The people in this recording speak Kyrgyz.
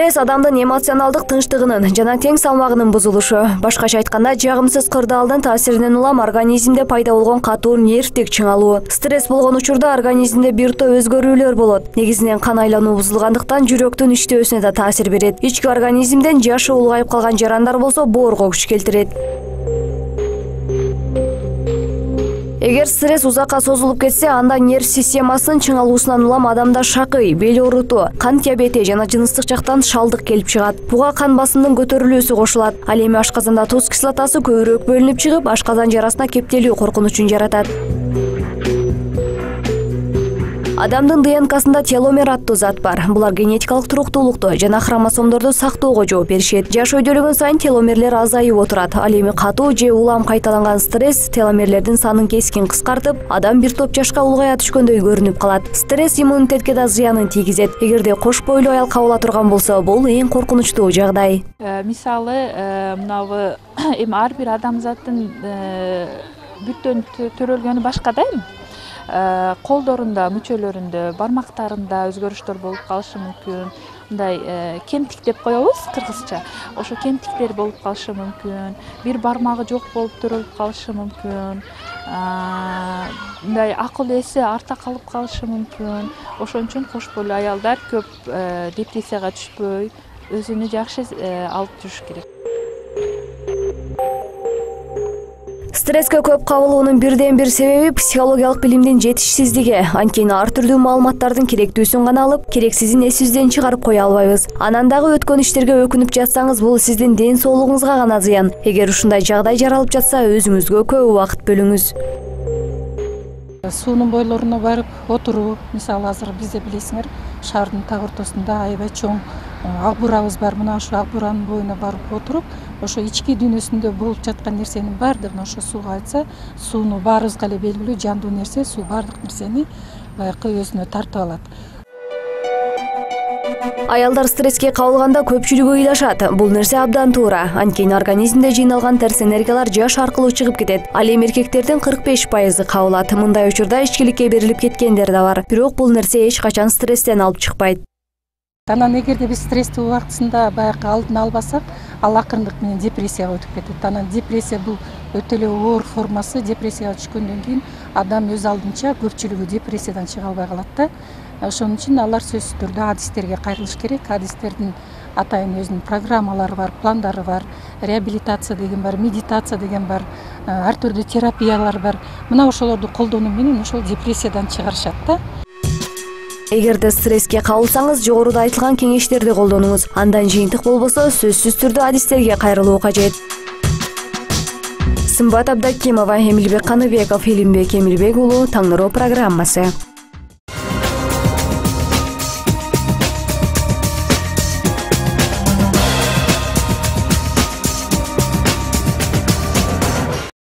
Стресс адамдын эмоционалдык тынчтыгынын жана тең салмагынын бузулушу. Башкача айтканда, жагымсыз кырдаалдын таасиринен улам организмде пайда болгон катуу нервтик чыңалуу. Стресс болгон учурда организмде бир топ өзгөрүүлөр болот. Негизинен кан айлануу бузулгандыктан жүрөктүн иштөөсүнө да таасир берет. Ички организмден жашы улгайып калган жарандар болсо боорго күч келтирет. Эгер стресс узакка созулуп кетсе, анда нерв системасынын чыңалуусунан улам адамда шакый, бел оорутуу, кан диабети жана жыныстык жактан шалдык келип чыгат. Буга кан басымынын көтөрүлүүсү кошулат. Ал эми ашказанда туз кислотасы көбүрөөк бөлүнүп чыгып, ашказан жарасына кептелүү коркунучун жаратат. Адамдын ДНКсында теломер аттуу зат бар. Булар генетикалык туруктуулукту жана хромосомдорду сактоого жооп беришет. Жаш өйдөлгөн сайын теломерлер азайып отурат. Ал эми катуу же улам кайталанган стресс теломерлердин санын кескин кыскартып, адам бир топ жашка улгая түшкөндөй көрүнүп калат. Стресс иммунитетке да зыянын тийгизет. Эгерде кош бойлуу аял кабыла турган болсо, бул эң коркунучтуу жагдай. Мисалы, мынабы эми ар бир адамзаттын бүттөн төрөлгөнү башка да эми. Колдорунда, мүчөлөрүндө, бармактарында өзгөрүштөр болуп калышы мүмкүн. Мындай кемтик деп коебуз кыргызча. Ошо кемтиктер болуп калышы мүмкүн. Бир бармагы жок болуп төрөлүп калышы мүмкүн. Мындай акыл эси арта калып калышы мүмкүн. Ошон үчүн кош бойлуу аялдар көп депрессияга түшпөй, өзүнү жакшы алып жүрүш керек. Стресске көп кабылуунун бирден бир себеби психологиялык билимдин жетишсиздиги. Анткени ар түрдүү маалыматтардын керектүүсүн гана алып, керексизин эсибизден чыгарып кое албайбыз. Анан дагы өткөн иштерге өкүнүп жатсаңыз, бул сиздин ден соолугуңузга гана зыян. Эгер ушундай жагдай жаралып жатса, өзүңүзгө көп убакыт бөлүңүз. Суунун бойлоруна барып отуруу, мисалы азыр бизде билесиңер, шаардын так ортосунда аябай чоң ак буурабыз бар. Мына ошо ак бууранын боюна барып отуруп, ошо ички дүйнөсүндө болуп жаткан нерсенин баардыгын ошо сууга айтса, сууну баарыбызга эле белгилүү жандуу нерсе, суу баардык нерсени баягы өзүнө тартып алат. Аялдар стресске кабылганда көпчүлүгү ыйлашат. Бул нерсе абдан туура. Анткени организмде жыйналган терс энергиялар жаш аркылуу чыгып кетет. Ал эми эркектердин 45% кабылат. Мындай учурда ичкиликке берилип кеткендер да бар. Бирок бул нерсе эч качан стресстен алып чыкпайт. Анан эгерде биз стрессти убактысында баягы алдын албасак, ал акырындык менен депрессияга өтүп кетет. Анан депрессия бул өтө эле оор формасы. Депрессияга түшкөндөн кийин адам өз алдынча көпчүлүгү депрессиядан чыга албай калат да. Ошон үчүн алар сөзсүз түрдө адистерге кайрылыш керек. Адистердин атайын өзүнүн программалары бар, пландары бар, реабилитация деген бар, медитация деген бар, ар түрдүү терапиялар бар. Мына ошолорду колдонуу менен ошол депрессиядан чыгарышат да. Эгерде стресске кабылсаңыз, жогоруда айтылган кеңештерди колдонуңуз. Андан жыйынтык болбосо, сөзсүз түрдө адистерге кайрылуу кажет. Сымбат Абдакимова, Эмилбек Каныбеков, Илимбек Эмилбек уулу, Таң нуру программасы.